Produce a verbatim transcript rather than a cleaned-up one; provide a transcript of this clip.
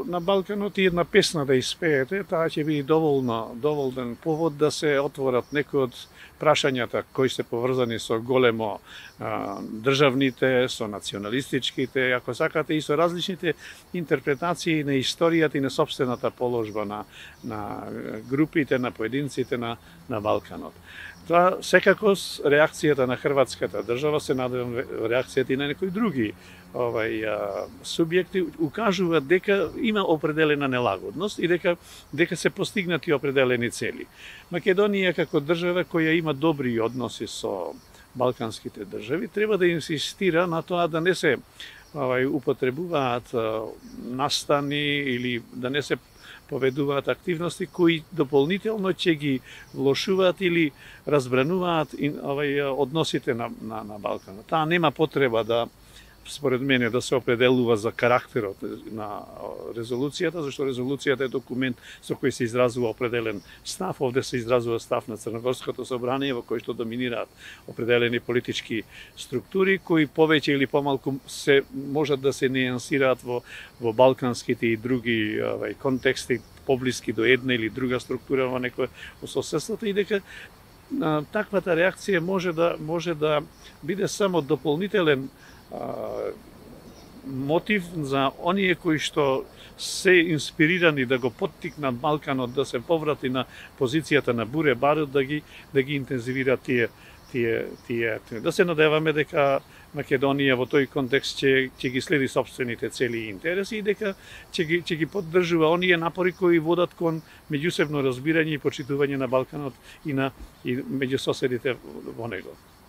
На Балканот и една песна да испеете, таа ќе биде доволно, доволен повод да се отворат некои од прашањата кои се поврзани со големо а, државните, со националистичките, ако сакате и со различните интерпретации на историјата и на собствената положба на, на групите, на поединците на, на Балканот. Тоа секако реакцијата на хрватската држава, се надевам реакцијата и на некои други овај а, субјекти укажуваат дека има определена нелагодност и дека дека се постигнати определени цели. Македонија како држава која има добри односи со балканските држави треба да инсистира на тоа да не се овај употребуваат а, настани или да не се поведуваат активности кои дополнително ќе ги влошуваат или разбрануваат овај односите на на, на Балканот. Таа нема потреба да, според мене, да се определува за карактерот на резолуцијата, зашто резолуцијата е документ со кој се изразува определен став. Овде се изразува став на Црногорското собрание во кој што доминираат определени политички структури кои повеќе или помалку се можат да се нијансираат во во балканските и други овај контексти поблиски до една или друга структура во некој соседството, и дека а, таквата реакција може да може да биде само дополнителен мотив за оние кои што се инспирирани да го поттикнат Балканот да се поврати на позицијата на буре барут, да ги да ги интензивира тие тие тие да се надеваме дека Македонија во тој контекст ќе ќе ги следи собствените цели и интереси и дека ќе ги ќе ги поддржува оние напори кои водат кон меѓусебно разбирање и почитување на Балканот и на и меѓу соседите во него.